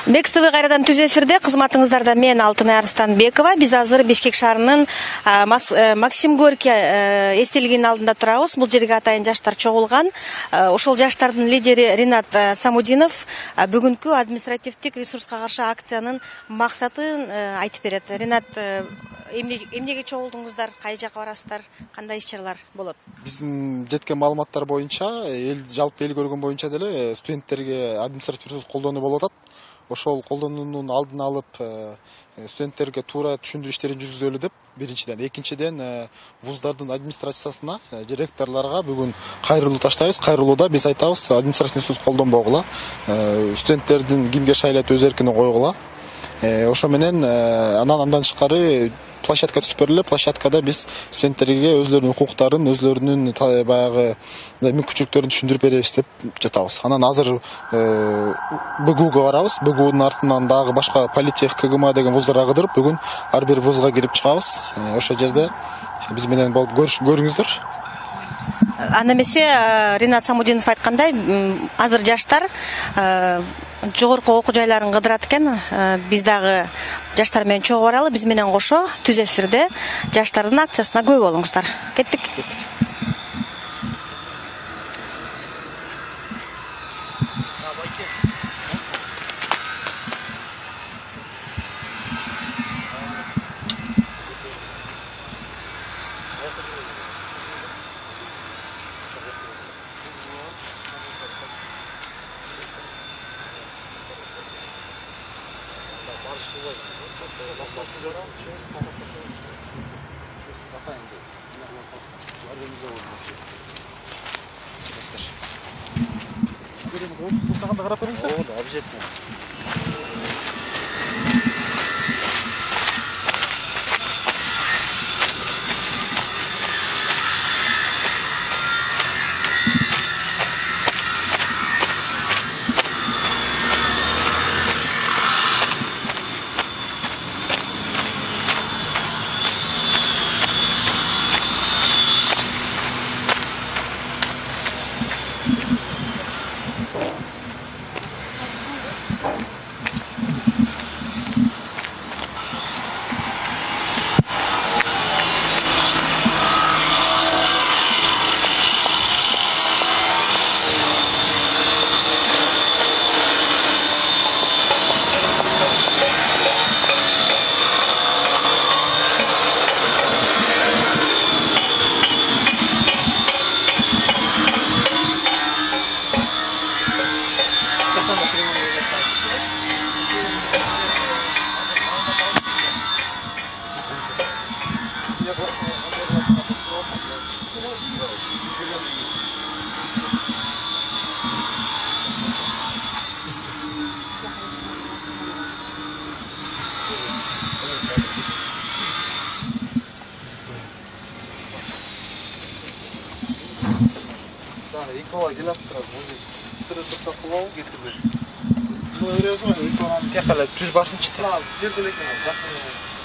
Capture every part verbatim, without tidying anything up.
Бекс ТВ кайрадан түз эфирде, кызматыңыздарда мен Алтынай Арстанбекова. Биз азыр Бишкек шаарынын Максим Горький эстелигинин алдында турабыз. Бул жерге атайын жаштар чогулган. Ошол жаштардын лидери Ринат Самудинов бүгүнкү административдик ресурска каршы акциянын максатын айтып берет. Ринат, эмнеге чогулдуңуздар, кай жака барасыздар, кандай иш-чаралар болот? Биздин жеткен маалыматтар боюнча, эл жалпы эл көргөн боюнча деле студенттерге административдик ресурс колдонуу болуп атат. Ошол колдонуунун алдын алып, студенттерге туура түшүндүрүү иштерин жүргүзөлү деп биринчиден, экинчиден вуздардын администрациясына, ректорлорго бүгүн кайрылуу таштайбыз. Кайрылууда биз айтабыз, административдик ресурс колдонбогула, студенттердин кимге шайлап өз эркине койгула. Ошо менен анан андан тышкары площадка түзүп бериле. Площадкада биз студенттерге өзлөрүнүн укуктарын, өзлөрүнүн баягы мүмкүнчүлүктөрүн түшүндүрүп беребиз деп жатабыз. Анан азыр БГУга барабыз. БГУнун артынан дагы башка политех, КГМ деген вуздарга кыдырып, бүгүн ар бир вузга кирип чыгабыз. Ошол жерде биз менен болуп көрүңүздөр. Анда эмесе Ринат Самудинов айткандай, азыр жаштар жогорку окуу жайларын кыдырат экен. Биз дагы жаштар менен чогуу баралы. Биз менен кошо түз эфирде жаштардын акциясына күбө болуңуздар. Кеттик. Обязательно. Икола келіп тұрады, өзі түрі тұрса құлауы кетірді. Бұл өресі ғой, иколаны кеқала түз басын чықты. Жерді лекен, жақын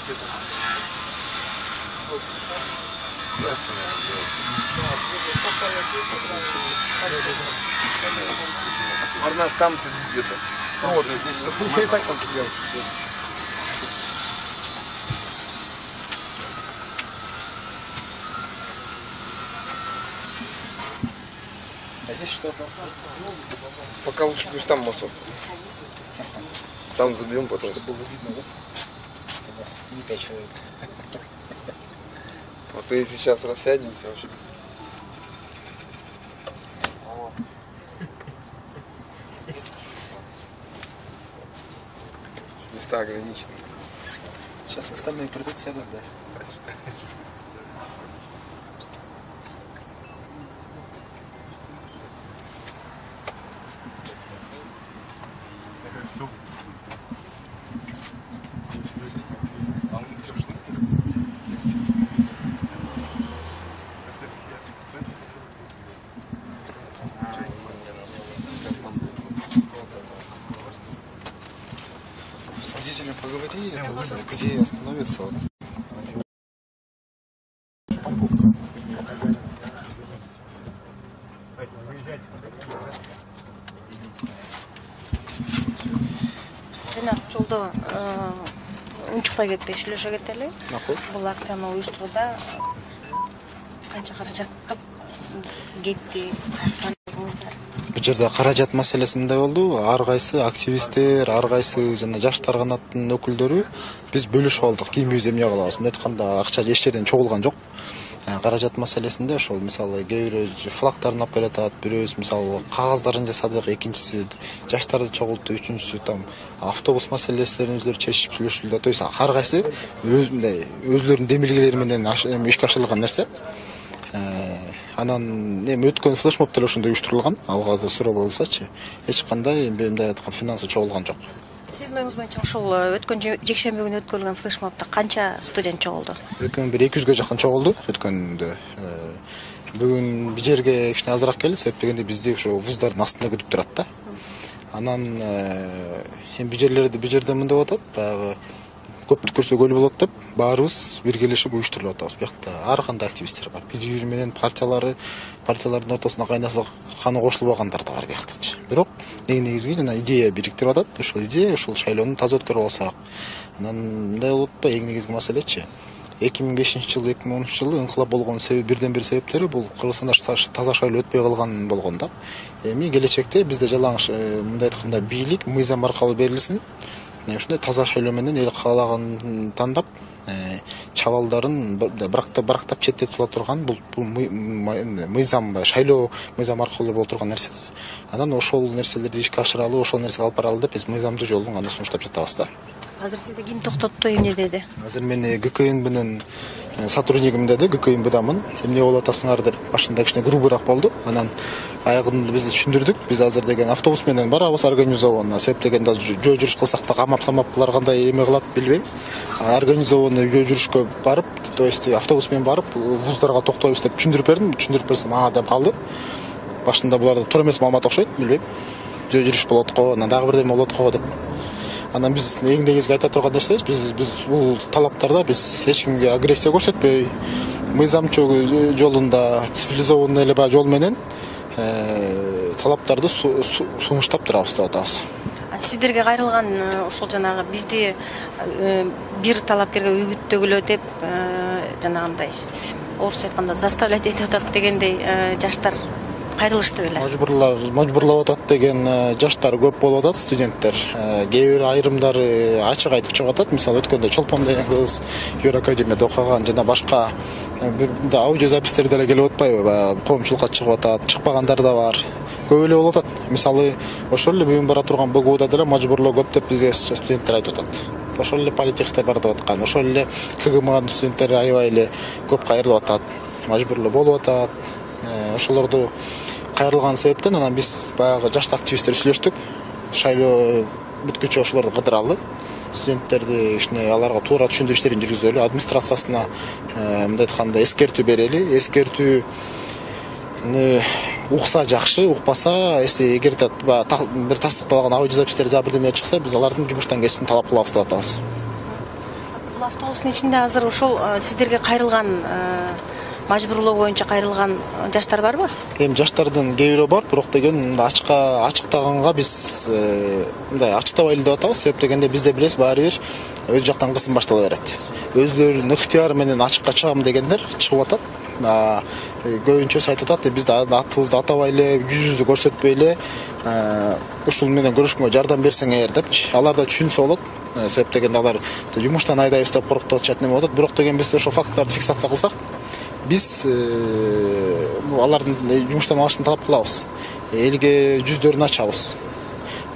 кетірді. Арнас там сидит где-то. Вот здесь что-то. Я и так там сидел. А здесь что? Пока лучше пусть там массовка. Там забьем потом. Чтобы было видно, да? У нас не пять человек. Вот и сейчас рассядемся вообще. Места ограничены. Сейчас остальные придут, сядут, да? С водителем поговори, это, где остановиться. Вот. жана жолдо унчукпай кетпей сүйлөшө кетели. Макул. Бул акцияны уюштурууда канча каражат кетти? Бул жерде каражат маселеси мындай болду. Ар кайсы активисттер, ар кайсы жана жаштар канаттын өкүлдөрү биз бөлүшүп алдык. Кимибиз эмне кылабыз? Мындай айтканда акча эч жерден чогулган жок. Каражат маселесинде ошол мисалы кээ бирөө флагтарын алып келатат, бирөөбүз мисалы кагаздарын жасадык, экинчиси жаштарды чогулту, үчүнчүсү там автобус маселелерин өздөрү чечип сүйлөшүлдү. То есть ар кайсы өзлөрүнүн демилгелери менен ишке ашырылган нерсе. Анан эми өткөн флешмоб деле ошондой уюштурулган. Алгазы суроо болсочу, эч кандай мындай айткан финансы чогулган жок. Сиздин оюңуз боюнча ошол өткөн жекшемби күнү өткөрүлгөн флешмобдо канча студент чогулду? Өткөн бир эки жүзгө жакын чогулду өткөндө. Бүгүн бир жерге кичине азыраак келди, себеп дегенде бизди ошо вуздардын астында күтүп турат да. Анан эми бир жерлерде бир жерде мындай болуп атат, баягы көптү көрсө көл болот деп баарыбыз биргелешип уюштуруп атабыз. Биякта ар кандай активисттер бар. Бири-бири менен партиялары, партиялардын ортосуна кайнаса каны кошулбагандар да бар биякта. Бирок негизи жана идея бириктирип атат. Ошол идея ушул шайлоону таза өткөрүп алсак. Анан мындай болуп атпайбы, эң негизги маселечи эки миң бешинчи жылы, эки миң онунчу жылы инкылап болгон себеби бирден бир себептери бул Кыргызстанда таза шайлоо өтпөй калган болгон да. Эми келечекте бизде жалаңыч мындай айтканда бийлик мыйзам аркылуу берилсин. Ушундай таза шайлоо менен эл каалаганын тандап, чабалдарын барактап четтетип ала турган бул мыйзам, шайлоо мыйзам аркылуу боло турган нерсе. Анан ошол нерселерди ишке ашыралы, ошол нерсеге алып баралы деп биз мыйзамдуу жолдон аны сунуштап жатабыз да. Азыр сизди ким токтотту, эмне деди? Азыр мени ГКНБнын сотруднигим деди, ГКНБдамын. Эмне болуп атасыңар деп башында кичине грубыраак болду. Анан аягында биз түшүндүрдүк. Биз азыр деген автобус менен барабыз организованно. Себеп дегенде жөө жүрүш кылсак да камап-самап кылар кандай эме кылат билбейм. Организованно жөө жүрүшкө барып, то есть автобус менен барып, вуздарга токтойбуз деп түшүндүрүп бердим. Түшүндүрүп берсем ага деп калды. Башында буларда туура эмес маалымат окшойт, билбейм. Жөө жүрүш болот го, анан дагы бирдеме болот го деп. Анан биз эң негизги айта турган нерсебиз, биз биз бул талаптарда биз эч кимге агрессия көрсөтпөй, мыйзамчуу жолунда цивилизованный эле баа жол менен талаптарды сунуштап турабыз деп атабыз. Сиздерге кайрылган ошол жанагы бизди бир талапкерге үгүттөгүлө деп жанагындай орусча айтканда заставлять этип атат дегендей жаштар кайрылышты беле? Мажбурлар, мажбурлап атат деген жаштар көп болуп атат, студенттер. Кээ бир айрымдары ачык айтып чыгып атат. Мисалы өткөндө Чолпон деген кыз Евроакадемияда окуган жана башка бир аудиозапистер деле келип атпайбы? Коомчулукка чыгып атат, чыкпагандар да бар. Көп эле болуп атат. Мисалы ошол эле бүгүн бара турган БГУда деле мажбурлоо көп деп бизге студенттер айтып атат. Ошол эле политехте бар деп аткан, ошол эле КГМнын студенттери аябай эле көп кайрылып атат, мажбурлоо болуп атат. Ошолорду кайрылган себептен анан биз баягы жаш активисттер сүйлөштүк. Шайлоо бүткүчө ошолорду кыдыралы. Студенттерди кичине аларга туура түшүндүрүү иштерин жүргүзөлү, администрациясына мындай айтканда эскертүү берели. Эскертүүнү укса жакшы, укпаса, эси эгерде бир тастыкталган аудиозапистер за бирдеме чыкса, биз алардын жумуштан кетишин талап кылабыз деп атабыз. Бул автобустун ичинде азыр ошол сиздерге кайрылган мажбурлоо боюнча кайрылган жаштар барбы? Эми жаштардын кээ бирөө бар, бирок деген ачыкка ачыктаганга биз мындай ачыктабайлы деп атабыз. Себеп дегенде бизде билесиз, баары бир өз жактан кысым баштала берет. Өзлөрүнүн ыктыяры менен ачыкка чыгам дегендер чыгып атат. Көбүнчөсү айтып атат, бизди атыбызды атабай эле, жүзүбүздү көрсөтпөй эле, ушул менен көрүшкөнгө жардам берсеңер депчи. Алар да түшүнсө болот. Себеп дегенде алар жумуштан айдайбыз деп коруктуп атышат неме болот. Бирок деген биз ошол фактыларды фиксация кылсак, биз алардын жумуштан алышын талап кылабыз. Элге жүздөрүн ачабыз.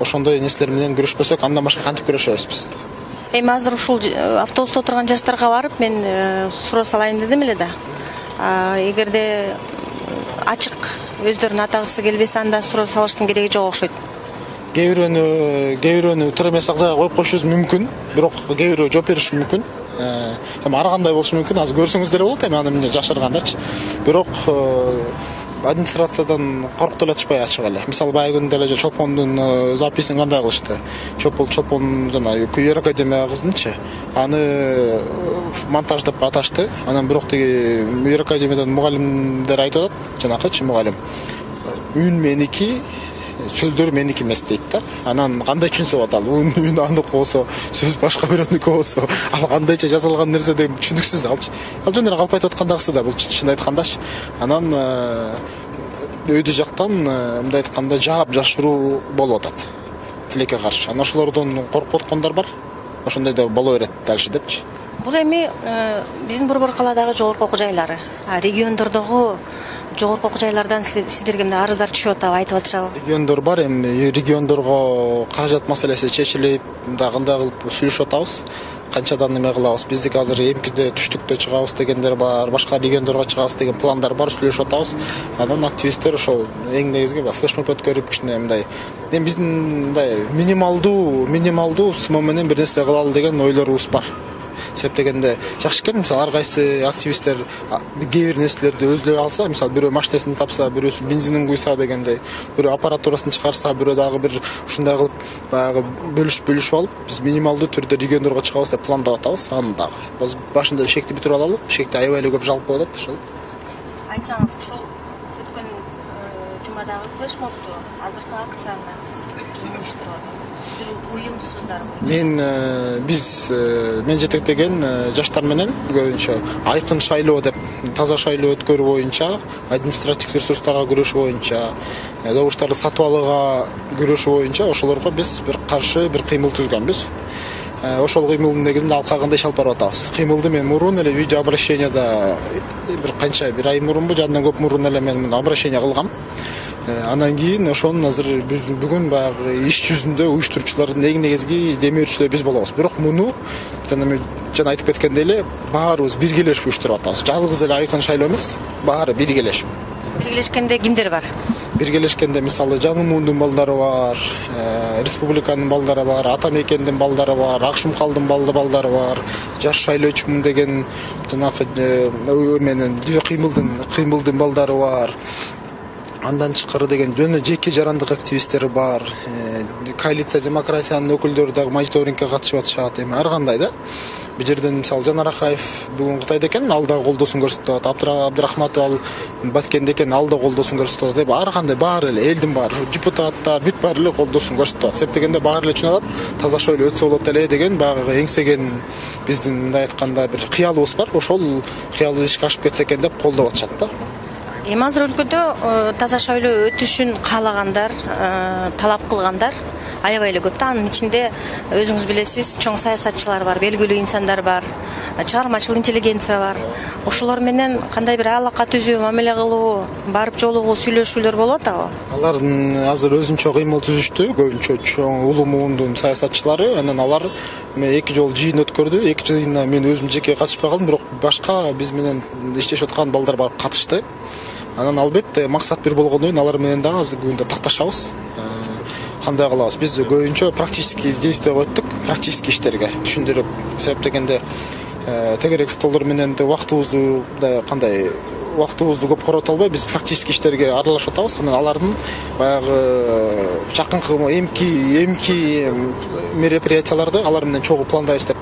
Ошондой нерселер менен күрөшпөсөк, андан башка кантип күрөшөбүз биз? Эми азыр ушул автобуста отурган жаштарга барып мен суроо салайын дедим эле да. Эгерде ачык өздөрүн атагысы келбесе, анда суроо салыштын кереги жок окшойт. Кээ бирөөнү, кээ бирөөнү туура эмес жайга коюп коюшубуз мүмкүн, бирок кээ бирөө жооп бериши мүмкүн. Эми ар кандай болушу мүмкүн, азыр көрсөңүз деле болот, эми аны эмне жашыргандачы. Бирок администрациядан коркуп деле атышпай ачык эле. Мисалы баягы күндө деле Чолпондун записин кандай кылышты? Чопол Чолпон жана Евроакадемия кыздынчы. Аны монтаж деп аташты. Анан бирок тиги Евроакадемиядан мугалимдер айтып атат, жанакычы мугалим. Үн меники, сөздөр меники эмес дейт да. Анан кандай түшүнсө болот, ал үн анык болсо, сөз башка бирөөнүкү болсо, ал кандайча жасалган нерсе деген түшүнүксүз да. Ал жөн эле калп айтып аткандагысы да, бул чын айткандачы. Анан өйдө жактан мындай айтканда жаап жашыруу болуп атат тилекке каршы. Анан ошолордон коркуп аткандар бар. Ошондой да боло берет дальше депчи. Бул эми биздин Борбор калаадагы жогорку окуу жайлары, региондордогу жогорку окуу жайлардан сиздерге мындай арыздар түшүп атабы, айтып атышабы? Региондор бар, эми региондорго каражат маселеси чечилип, мындай кандай кылып сүйлөшүп атабыз. Канчадан эме кылабыз? Биздик азыр эмкиде түштүктө чыгабыз дегендер бар, башка региондорго чыгабыз деген пландар бар, сүйлөшүп атабыз. Анан активисттер ошол эң негизги флешмоб өткөрүп кичине мындай эми биздин мындай минималдуу минималдуу сумма менен бир нерсе кылалы деген ойлорубуз бар. Себеп дегенде жакшы экен, мисалы ар кайсы активисттер кээ бир нерселерди өзлөй алса, мисалы бирөө машинесин тапса, бирөөсү бензинин куйса дегендей, бирөө аппаратурасын чыгарса, бирөө дагы бир ушундай кылып баягы бөлүшүп бөлүшүп алып, биз минималдуу түрдө региондорго чыгабыз деп пландап атабыз. Аны дагы башында бешекти бүтүрүп алалы, бешекте аябай эле көп жалп болуп атат ошол. Айтсаңыз, ушул өткөн жумадагы флешмобду, азыркы акцияны ким уюштуруп атат? Уюмсуздарбы? Мен биз мен жетектеген жаштар менен көбүнчө айкын шайлоо деп таза шайлоо өткөрүү боюнча, административдик ресурстарга күрөшүү боюнча, добуштарды сатып алууга күрөшүү боюнча ошолорго биз бир каршы бир кыймыл түзгөнбүз. Ошол кыймылдын негизинде алкагында иш алып барып атабыз. Кыймылды мен мурун эле видео обращенияда бир канча бир ай мурунбу, жадан көп мурун эле мен обращение кылгам. Анан кийин ошонун азыр биз бүгүн баягы иш жүзүндө уюштуруучулардын эң негизги демөөрчүлөрү биз болобуз. Бирок муну жана мен жана айтып кеткендей эле баарыбыз биргелешип уюштуруп атабыз. Жалгыз эле айкын шайлоо эмес, баары биргелешип. Биргелешкенде кимдер бар? Биргелешкенде мисалы Жаңымундун балдары бар, республиканын балдары бар, Ата Мекендин балдары бар, Акшумкалдын балдары бар, Жаш шайлоочумун деген жанагы менен кыймылдын кыймылдын балдары бар. Андан тышкары деген жөн жеке жарандык активисттер бар. Коалиция демократиянын өкүлдөрү дагы мониторингке катышып атышат. Эми ар кандай да. Бул жерден мисалы Жанар Акаев бүгүн Кытайда экен, ал да колдоосун көрсөтүп атат. Абдрахматов ал Баткенде экен, ал да колдоосун көрсөтүп атат. Ар кандай баары эле элдин баары, депутаттар бүт баары эле колдоосун көрсөтүп атат. Себеп дегенде баары эле түшүнүп атат, таза шайлоо өтсө болот эле деген баягы эңсеген биздин мындай айтканда бир кыялыбыз бар. Ошол кыялыбыз ишке ашып кетсе экен деп колдоп атышат да. Эми азыр өлкөдө таза шайлоо өтүшүн каалагандар, талап кылгандар аябай эле көп да. Анын ичинде өзүңүз билесиз, чоң саясатчылар бар, белгилүү инсандар бар, чыгармачыл интеллигенция бар. Ошолор менен кандай бир алака түзүү, мамиле кылуу, барып жолугуу, сүйлөшүүлөр болуп атабы? Алардын азыр өзүнчө кыймыл түзүштү, көбүнчө чоң улуу муундун саясатчылары. Анан алар эки жолу жыйын өткөрдү. Эки жыйына мен өзүм жеке катышпай калдым, бирок башка биз менен иштешип аткан балдар барып катышты. Анан албетте максат бир болгондон кийин алар менен дагы азыр күндө такташабыз. Кандай кылабыз? Биз көбүнчө практический действия өттүк, практический иштерге түшүндүрүп, себеп дегенде тегерек столдор менен да убактыбызды кандай убактыбызды көп корото албай, биз практический иштерге аралашып атабыз. Анан алардын баягы жакынкы эмки эмки мероприятияларды алар менен чогуу пландайбыз деп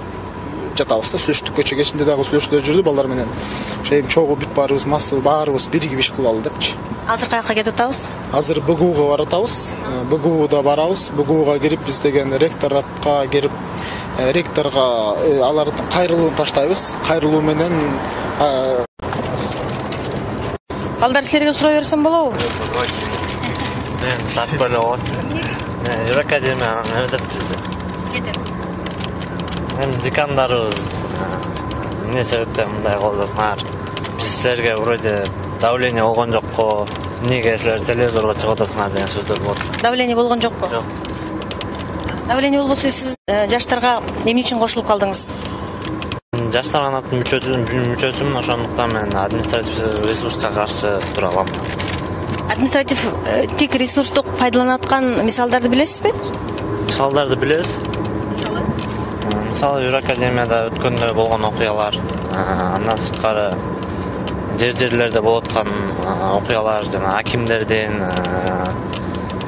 жатабыз да. Сүйлөштүк, көчө кечинде дагы сүйлөшүүлөр жүрдү балдар менен. Ошо эми чогуу бүт баарыбыз масса баарыбыз биригип иш кылалы депчи. Азыр каяка кетип атабыз? Азыр БГУга барып атабыз. БГУда барабыз. БГУга кирип биз деген ректоратка кирип, ректорго аларды кайрылууну таштайбыз. Кайрылуу менен балдар силерге суроо берсем болобу? Мен таппай эле болот. Юрак академияга өтөт бизде. Кетет. Эми декандарыбыз эмне себептен мындай колдосуңар? Биз силерге вроде давление болгон жокко, эмнеге силер телевизорго чыгып атасыңар деген сөздөр болот. Давление болгон жокпу? Жок. Давление болбосо сиз жаштарга эмне үчүн кошулуп калдыңыз? Жаштар канатынын мүчөсүмүн, ошондуктан мен административдик ресурска каршы тура алам. Административдик ресурсту пайдаланып аткан мисалдарды билесизби? Мисалдарды билебиз. Мисалы? Мисалы Юрак академияда өткөндө болгон окуялар, андан сырткары жер-жерлерде болуп аткан окуялар, жана акимдердин,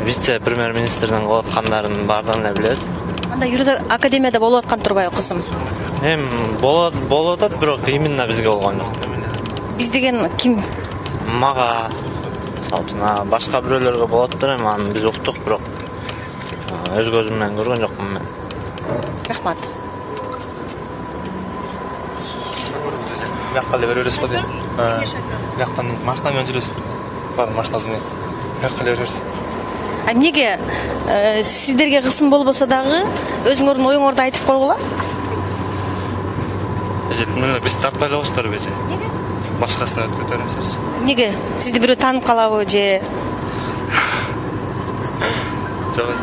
вице-премьер-министрдин кылып аткандарын баардыгын эле билебиз. Анда Юрак академияда болуп аткан турбайбы, кызым? Эми болот болуп атат, бирок именно бизге болгон жок. Биз деген ким? Мага Мисалы үчүн башка бирөөлөргө болоттур эми, аны биз уктук, бирок өз көзүм менен көргөн жокмун мен. Рахмат. Бияққа эле беребиз го дейм. Бияктан машина менен жүрөбүз. Бар машинасы менен. Бияққа эле беребиз. А эмнеге сиздерге кысым болбосо дагы өзүңөрдүн оюңорду айтып койгула? Эже, биз тартпай эле коштор беже. Неге? Башкасына өтүп кетебиз. Эмнеге? Сизди бирөө таанып калабы же?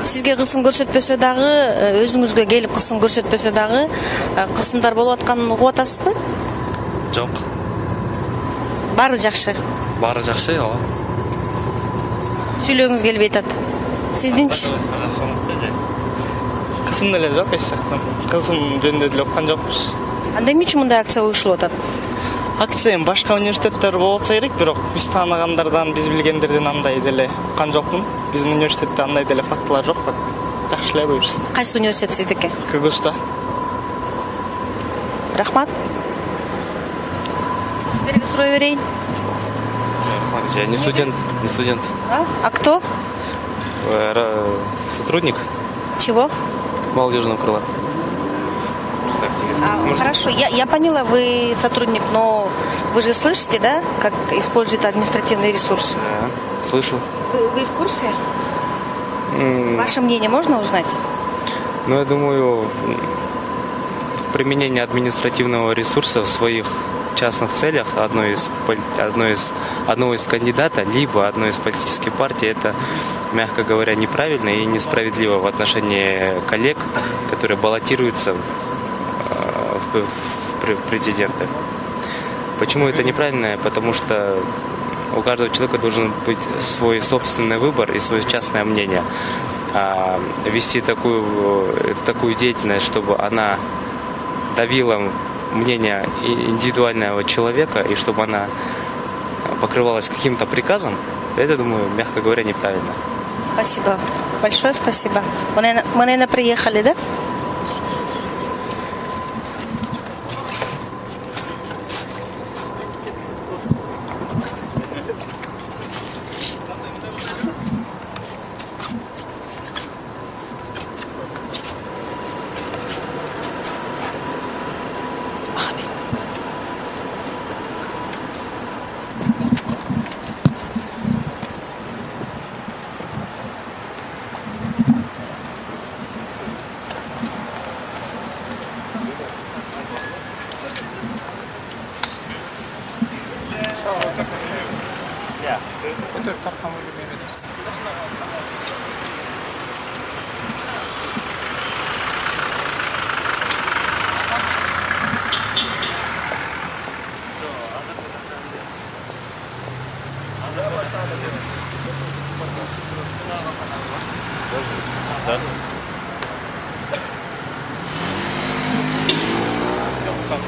Сизге кысым көрсөтпөсө дагы, өзүңүзгө келип кысым көрсөтпөсө дагы, кысымдар болуп атканын угуп атасызбы? Жок. Баары жакшы. Баары жакшы, ооба. Сүйлөгүңүз келбей атат. Сиздинчи? Кысым деле жок эч жактан. Кысым жөнүндө деле уккан жокпуз. Анда эмне үчүн мындай акция уюштурулуп атат? Акция башка университеттер болсо керек, бирок биз тааныгандардан, биз билгендерден андай деле уккан жокмун. Биздин университетте андай деле фактылар жок. Жакшы эле буюрса. Кайсы университет сиздики? Кыгызда. Рахмат. Сиздерге сурай берейин. Я не студент, не студент. А? А кто? Сотрудник. Чего? Молодежного крыла. А, хорошо, я, я поняла, вы сотрудник, но вы же слышите, да, как используют административный ресурс? Да, слышу. Вы, вы в курсе? Mm. Ваше мнение можно узнать? Ну, я думаю, применение административного ресурса в своих частных целях одной из, одной из, одного из кандидата, либо одной из политических партий, это, мягко говоря, неправильно и несправедливо в отношении коллег, которые баллотируются в, в президенты. Почему это неправильно? Потому что у каждого человека должен быть свой собственный выбор и свое частное мнение. А вести такую, такую деятельность, чтобы она давила мнение индивидуального человека и чтобы она покрывалась каким-то приказом, это, думаю, мягко говоря, неправильно. Спасибо. Большое спасибо. Мы, наверное, мы, наверное, приехали, да?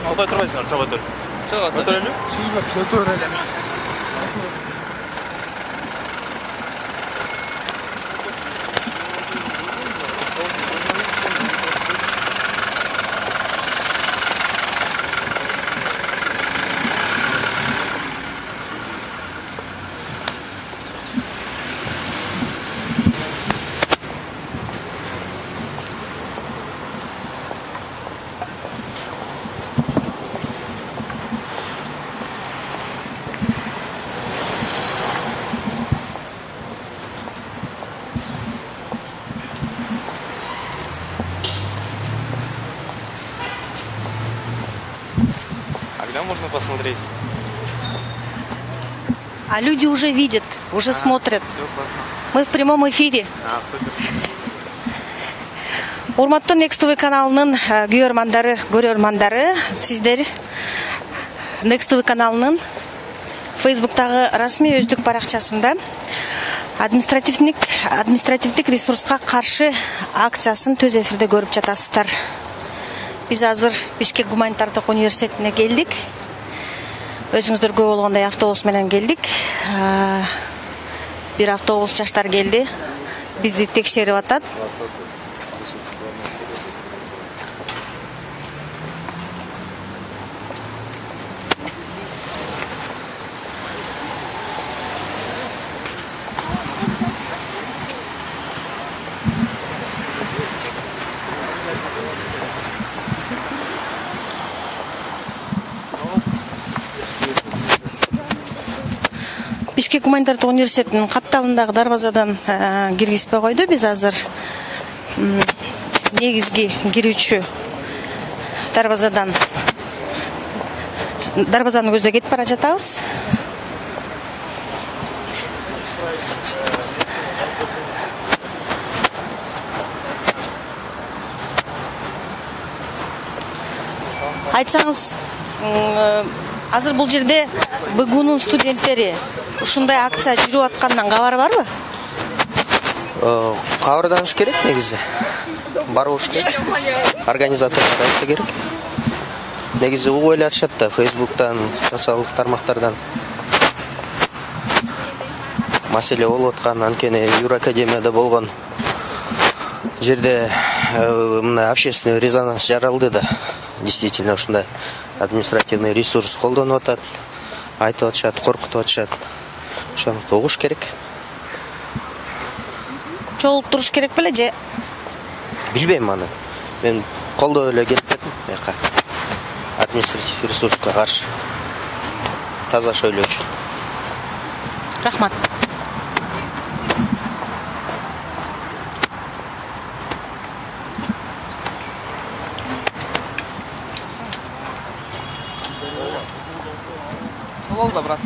Албай турбайсыңар, чаба тур. Чаба тур эле? Сиз тур эле. Можно посмотреть. А люди уже видят, уже а, смотрят. Мы в прямом эфире. А, супер. Урматтуу Next ти ви каналынын көрөрмандары, көрөрмандары, сиздер Next ти ви каналынын Facebook'тагы расмий өздүк баракчасында административдик административдик ресурска каршы акциясын төз эфирде көрүп жатасыздар. Биз азыр Бишкек гуманитардык университетине келдик. Өзүңүздөр көп болгондой автобус менен келдик. Бир автобус жаштар келди. Бизди текшерип атат. Бишкек гуманитардык университетинин капталындагы дарбазадан киргизбей койду. Биз азыр негизги кирүүчү дарбазадан дарбазаны көздөй кетип бара жатабыз. Айтсаңыз, азыр бул жерде БГУнун студенттери ушундай акция жүрүп аткандан кабар барбы? Кабарданыш керек негизи. Барыш керек. Организаторлор айтса керек. Негизи угуп эле атышат да Facebook'тан, социалдык тармактардан. Маселе болуп аткан, анткени Юракадемияда болгон жерде мына общественный резонанс жаралды да. Действительно ушундай административный ресурс колдонуп атат, айтып атышат, коркутуп атышат. Ошону угуш керек. Чогулуп туруш керек беле же? Билбейм аны. Мен колдоп эле келип кеттим буяка. Административ ресурска каршы таза шөйлөө үчүн. Рахмат. Болду, брат.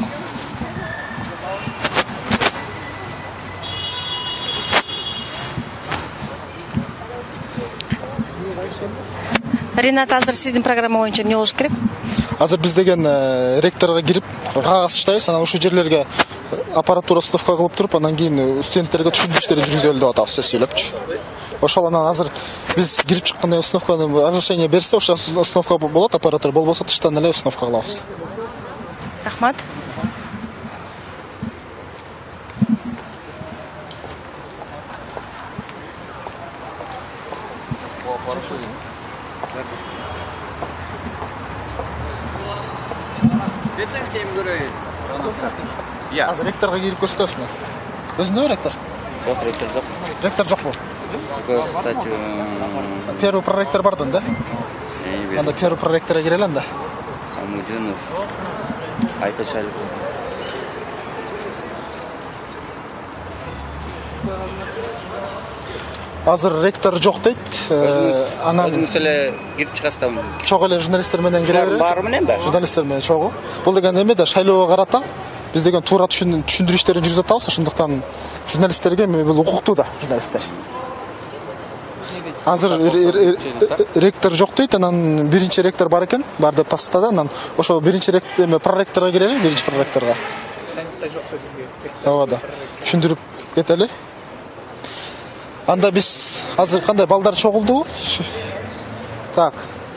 Ринат, азыр сиздин программа боюнча эмне болуш керек? Азыр биз деген ректорго кирип кагаз таштайбыз, анан ушул жерлерге аппаратура установка кылып туруп, анан кийин студенттерге түшүндүрүштөрдү жүргүзөлү деп атабыз, сөз сүйлөпчү. Ошол анан азыр биз кирип чыкканда установканы разрешение берсе, ошо установка болот, аппаратура болбосо тыштан эле установка кылабыз. Рахмат. Берсең сен көрөйүн. Азыр ректорго кирип көрсөтөсүзбү? Өзүндө ректор? Жок, ректор жок. Ректор жокпу? Кстати, первый проректор бардын да? Анда первый проректорго кирели анда. Самудинов, Айтачалов. Азыр ректор жок дейт. Анан өзүңүз эле кирип чыгасыздар. Чогуу эле журналисттер менен кире. Баары менен да? Журналисттер менен чогуу. Бул деген эме да шайлоого карата биз деген туура түшүндүрүү иштерин жүргүзүп атабыз, ошондуктан журналисттерге бул укуктуу да журналисттер. Азыр ректор жок дейт, анан биринчи ректор бар экен, бар деп тастады, анан ошо биринчи ректор эме проректорго кирели, биринчи проректорго. Ооба да. Түшүндүрүп кетели. Анда биз азыр кандай балдар чогулду? Так.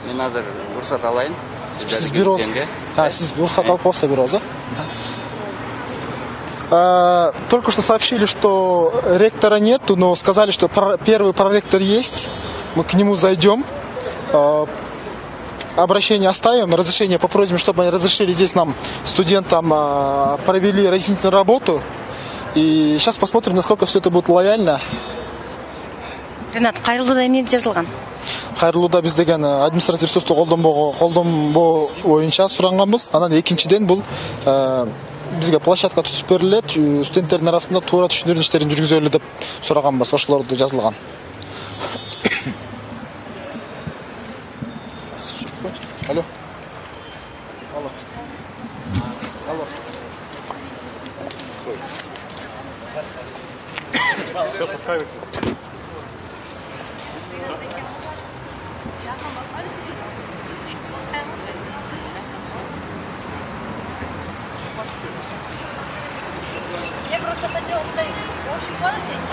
Мен азыр уруксат алайын. Сиз бирөөз. А, сиз уруксат алып коесуздар бирөөз, а? Только что сообщили, что ректора нет, но сказали, что первый проректор есть. Мы к нему зайдем. Обращение оставим, разрешение попросим, чтобы они разрешили здесь нам, студентам, провели разъяснительную работу. И сейчас посмотрим, насколько все это будет лояльно. Ринат, кайрылууда эмне жазылган? Кайрылууда биз деген административ ресурсту колдонбоо колдонбоо боюнча суранганбыз. Анан экинчиден бул бизге площадка түзүп берилет, студенттердин арасында туура түшүндүрүү иштерин жүргүзөлү деп сураганбыз, ошолорду жазылган. Алло. Алло. Алло. Всё, пускай. Я просто хотела туда общий план взять.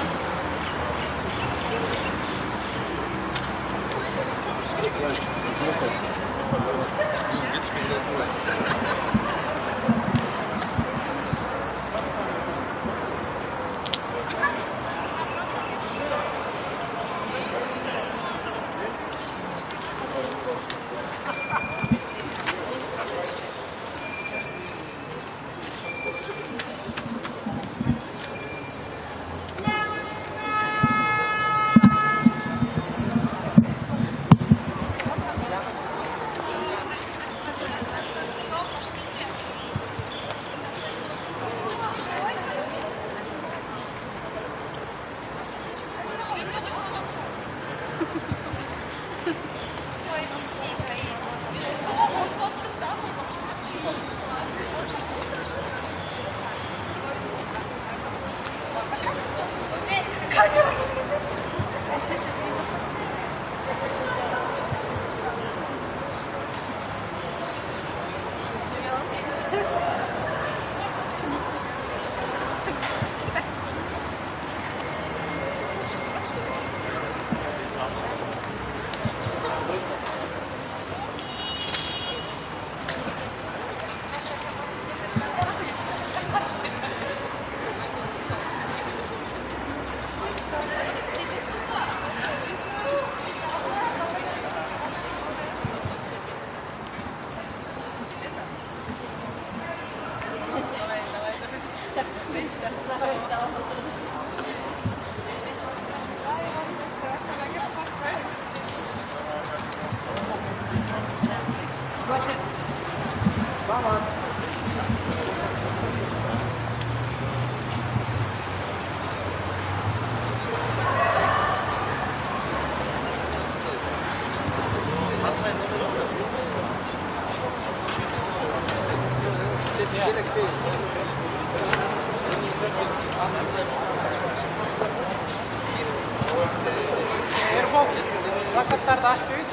Plakattарды açtınız.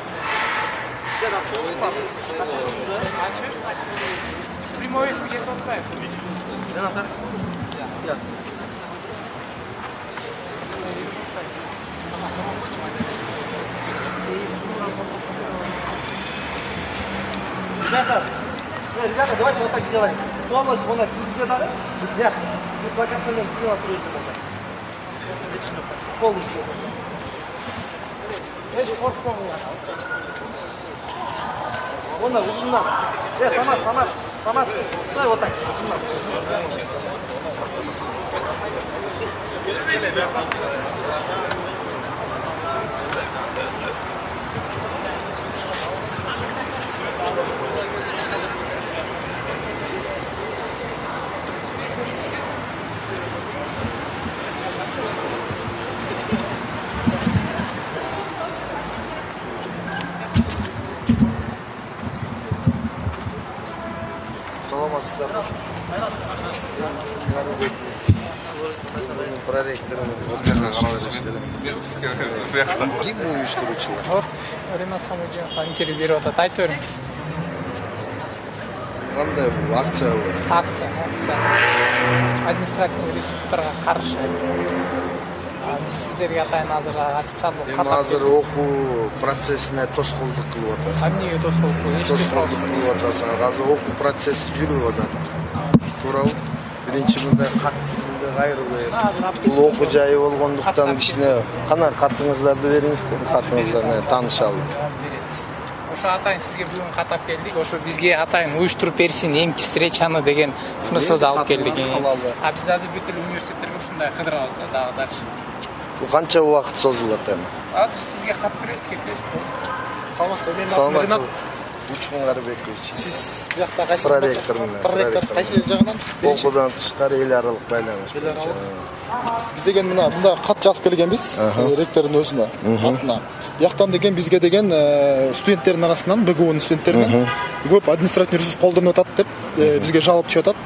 Açıyoruz. Прямой эфир где-то отправим. Ребята, ребята, давайте вот так сделаем. Полностью вон так, тебе дали? Нет, вы плакатами слева откроете. Полностью. Эш коркпогула. Вон так, узундан. Э, Самат, Самат, Самат, стой вот так. Саламатсыздар. Проректорымыз. Ким уюштуруучулар? Ренат Хамиджановго интервью берип атат. Айтып бериңиз. Кандай бул акция бул? Акция, акция. Административный ресурстарга каршы. Биз сиздерге атайын азыр официалдуу кат. Эми азыр окуу процессине тоскоолдук кылып атасың. Эмнеге тоскоолдук кылып? Тоскоолдук кылып атасың. Азыр окуу процесси жүрүп атат. Туурабы? Биринчи мындай кат мындай кайрылып, бул окуу жайы болгондуктан кичине кана катыңыздарды бериңиздер, катыңыздар менен таанышалы. Ошо атайын сизге бүгүн катап келдик. Ошо бизге атайын уюштуруп берсин эмки встречаны деген смыслда алып келдик. А биз азыр бүт эле университеттерге ушундай кыдырабыз да дагы дальше. Бул канча убакыт созулат эми? Азыр сизге кат беребиз, кетебиз. Саламатсыздар, мен атым Ренат. Учмун Карыбекович. Сиз биякта кайсы проректор? Проректор кайсы жагынан? Окуудан тышкары эл аралык байланыш. Биз деген мына мында кат жазып келгенбиз, ректордун өзүнө, атына. Бияктан деген бизге деген студенттердин арасынан, БГУнун студенттеринен көп административный ресурс колдонуп атат деп бизге жалоп түшүп атат.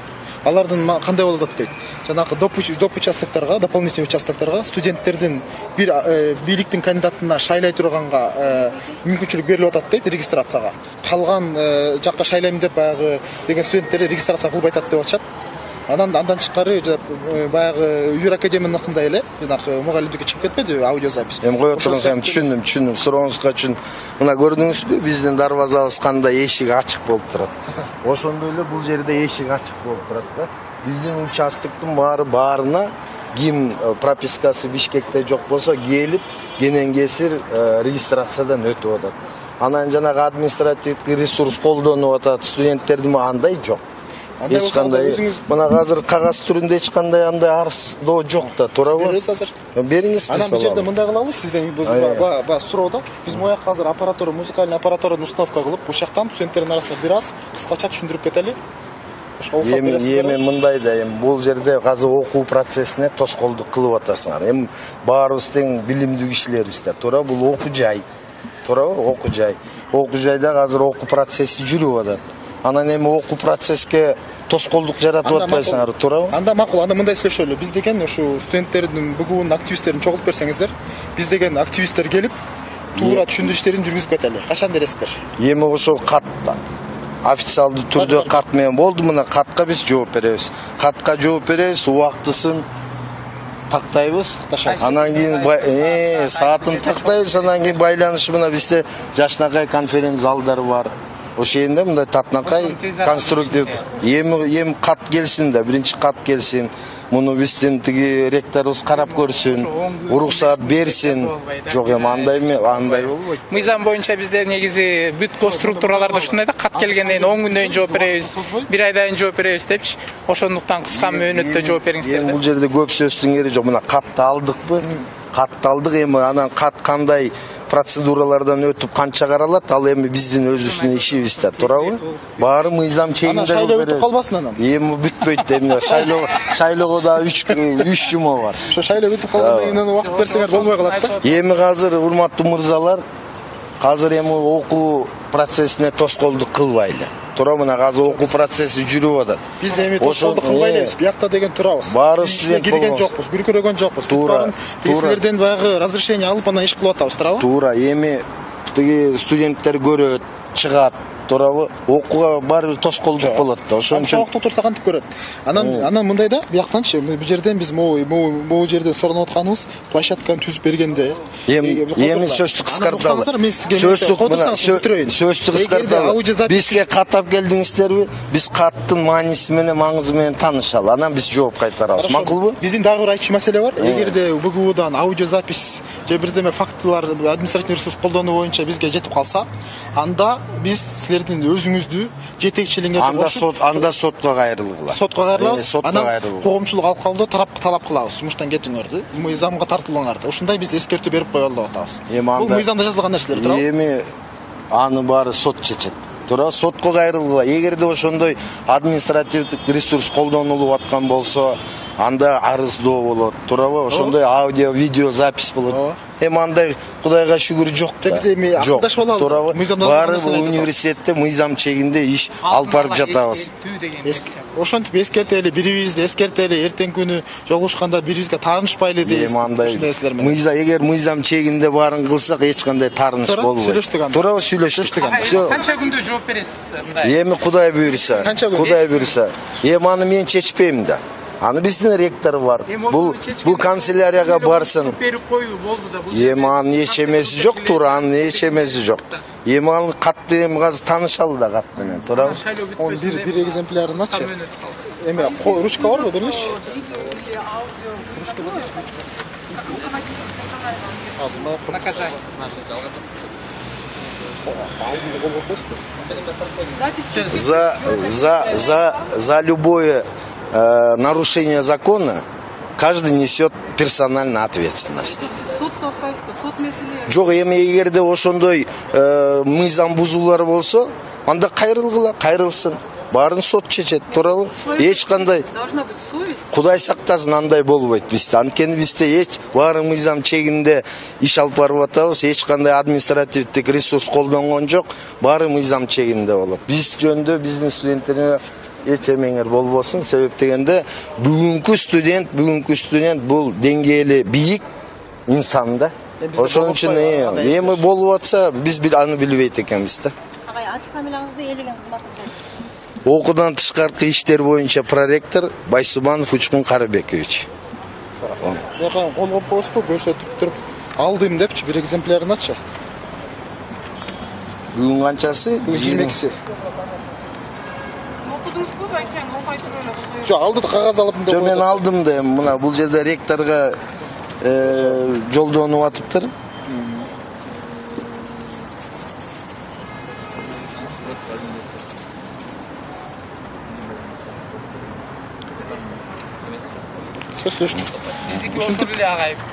Алардын кандай болуп атат дейт. Жанагы доп доп участоктарга, дополнительный участокторго студенттердин бир бийликтин кандидатына шайлай турганга мүмкүнчүлүк берилип атат дейт регистрацияга. Калган жакка шайлайм деп баягы деген студенттерди регистрация кылбай атат деп атышат. Анан андан тышкары баягы Юр Академияныкындай эле, жанагы мугалимдикке чыгып кетпеди аудиозапись. Эми кое туруңуз, эми түшүндүм, түшүндүм. Сурооңузга үчүн мына көрдүңүзбү, биздин дарбазабыз кандай эшик ачык болуп турат. Ошондой эле бул жерде эшик ачык болуп турат да. Биздин участоктун баары баарына ким пропискасы Бишкекте жок болсо келип, кенен кесир регистрациядан өтүп атат. Анан жанагы административдик ресурс колдонуп атат студенттердин андай жок. Эч кандай мына азыр кагаз түрүндө эч кандай андай арыздоо жок да, туурабы? Беребиз азыр. Бериңиз. Анан бул жерде мындай кылалы, сизден баягы суроодо биз бу жакка азыр аппаратура, музыкальный аппаратурадан установка кылып, бул жактан студенттердин арасында бир аз кыскача түшүндүрүп кетели. Эми эми мындай да эми бул жерде азыр окуу процессине тоскоолдук кылып атасыңар. Эми баарыбыз тең билимдүү кишилербиздер. Туура, бул окуу жай. Туурабы? Окуу жай. Окуу жайда азыр окуу процесси жүрүп атат. Анан эми окуу процесске тоскоолдук жаратып атпайсыңар, туурабы? Анда макул, анда мындай сүйлөшөлү. Биз деген ушу студенттердин, БГУнун активисттерин чогултуп берсеңиздер, биз деген активисттер келип, туура түшүндүрүү иштерин жүргүзүп кетели. Качан бересиздер? Эми ошол кат официалдуу түрдө кат менен болду, мына катка биз жооп беребиз. Катка жооп беребиз, убактысын тактайбыз. Анан кийин саатын тактайбыз, анан кийин байланышы мына бизде жашнакай конференц залдары бар. Ошол жерде мындай татнакай конструктив эми эми кат келсин да, биринчи кат келсин. Муну биздин тиги ректорубуз карап көрсүн, уруксаат берсин. Жок, эми андай андай болбойт. Мыйзам боюнча бизде негизи бүт госструктураларда ушундай да, кат келгенден кийин он күндөн кийин жооп беребиз, бир айдан кийин жооп беребиз депчи. Ошондуктан кыска мөөнөттө жооп бериңиздер. Эми бул жерде көп сөздүн кереги жок. Мына катты алдыкпы? Катты алдык, эми анан кат кандай процедуралардан өтүп канча каралат, ал эми биздин өзүбүздүн ишибиз да, туурабы? Баары мыйзам чегинде беребиз. Анан шайлоо өтүп калбасын анан. Эми бүтпөйт, эми шайлоо шайлоого да үч үч жума бар. Ошо шайлоо өтүп калгандан кийин убакыт берсеңер болбой калат да. Эми азыр урматтуу мырзалар, азыр эми окуу процессине тоскоолдук кылбайлы. Туура, мына азыр окуу процесси жүрүп атат. Биз эми тоскоолдук кылбайлыбыз, биякта деген турабыз. Баары студент кирген жокпуз, бүркүрөгөн жокпуз. Туура. Тигилерден баягы разрешение алып анан иш кылып атабыз, туурабы? Туура, эми тиги студенттер көрөт, чыгат, туурабы? Окууга баары тоскоолдук болот да. Ошон үчүн сабакта турса кантип көрөт. Анан анан мындай да, бияктанчы, бул жерден биз могу могу жерден соронуп атканыбыз площадканы түзүп бергенде. Эми эми сөздү кыскарталы. Сөздү сөздү кыскарталы. Бизге каттап келдиңиздерби? Биз каттын мааниси менен, маңызы менен таанышалы. Анан биз жооп кайтарабыз. Макулбу? Биздин дагы бир айтчу маселе бар. Эгерде БГУдан аудиозапись же бирдеме фактылар, административный ресурс колдонуу боюнча бизге жетип калса, анда биз силердин өзүңүздү жетекчилигиңерге анда сот анда сотко кайрылгыла. Сотко кайрылабыз. Анан коомчулук алкалдоо тарапка талап кылабыз. Жумуштан кетиңерди, мыйзамга тартылууңарды. Ушундай биз эскертүү берип коелу деп атабыз. Бул мыйзамда жазылган нерселер, туурабы? Эми аны баары сот чечет. Туура, сотко кайрылгыла. Эгерде ошондой административдик ресурс колдонулуп аткан болсо, анда арыздоо болот. Туурабы? Ошондой аудио, видео запись болот. Эми андай Кудайга шүгүр жок да. Биз эми акылдашып алалы. Баары университетте мыйзам чегинде иш алып барып жатабыз. Ошентип эскертели, бирибизди эскертели, эртең күнү жолугушканда бирибизге таанышпайлы дейбиз. Эми андай мыйзам, эгер мыйзам чегинде баарын кылсак эч кандай тааныш болбойт. Туура, сүйлөштүк. Канча күндө жооп бересиз мындай? Эми Кудай буйруса, Кудай буйруса. Эми аны мен чечпейм да. Аны биздин ректор бар. Бул бул канцелярияга барсын. Эми анын эч эмеси жок, туура, анын эч эмеси жок. Эми анын катты эми азыр таанышалы да кат менен, туурабы? Он бир бир экземплярын ачы. Эми ручка барбы, берилиши? За за за за любое э, нарушение закона каждый несет персональную ответственность. Жок, эми эгерде ошондой э, мыйзам бузуулар болсо, анда кайрылгыла, кайрылсын. Баарын сот чечет, туурабы? Эч кандай должна быть совесть. Кудай сактасын, андай болбойт бизде. Анткени бизде эч баары мыйзам чегинде иш алып барып атабыз, эч кандай административдик ресурс колдонгон жок, баары мыйзам чегинде болот. Биз жөнүндө биздин студенттерге эч эмеңер болбосун, себеп дегенде бүгүнкү студент, бүгүнкү студент бул деңгээли бийик инсан да. Ошон үчүн эми болуп атса, биз аны билбейт экенбиз да. Агай, аты фамилияңызды, элеген кызматыңызды. Окуудан тышкаркы иштер боюнча проректор Байсубанов Учкун Карабекович. Бака колго коюпсу, көрсөтүп туруп алдым депчи, бир экземплярын ачы. Бүгүн канчасы? жыйырма экиси. Окудуңузбу, байкем, окуй туруп эле. Жок, алды кагаз алып. Жок, мен алдым да, мына бул жерде ректорго жолдонуп атыптыр.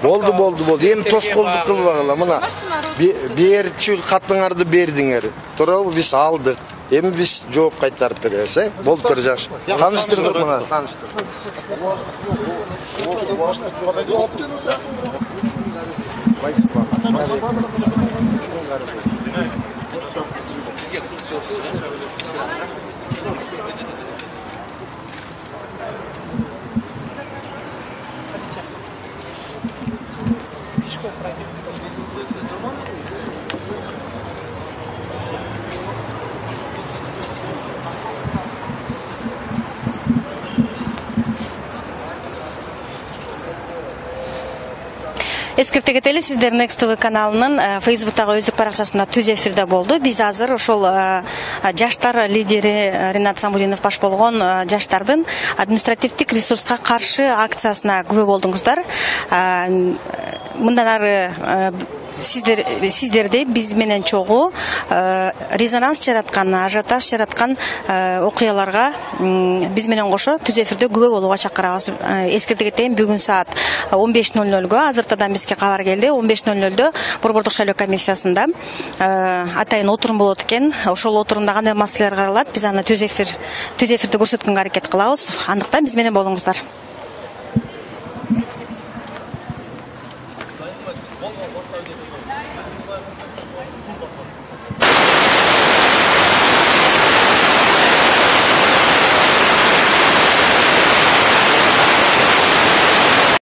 Болду, болду, болду. Эми тоскоолдук кылбагыла. Мына берчү катыңарды бердиңер. Туурабы? Биз алдык. эми биз жооп кайтарып беребиз, э? Болуптур, жакшы. Тааныштырдык мына. Эскерте кетели, сиздер Next ти ви каналынын Facebook'тагы өздүк баракчасында түз эфирде болду. Биз азыр ошол жаштар лидери Ринат Самудинов баш болгон жаштардын административдик ресурска каршы акциясына күбө болдуңуздар. Мындан ары сиздер сиздерде биз менен чогуу резонанс жараткан, ажиотаж жараткан окуяларга биз менен кошо түз эфирде күбө болууга чакырабыз. Эскерте кетейин, бүгүн саат он беш ноль нольго азыртадан бизге кабар келди. он беш ноль нольдо Борбордук шайлоо комиссиясында атайын отурум болот экен. Ошол отурумда кандай маселелер каралат, биз аны түз эфир түз эфирде көрсөткөнгө аракет кылабыз. Андыктан биз менен болуңуздар.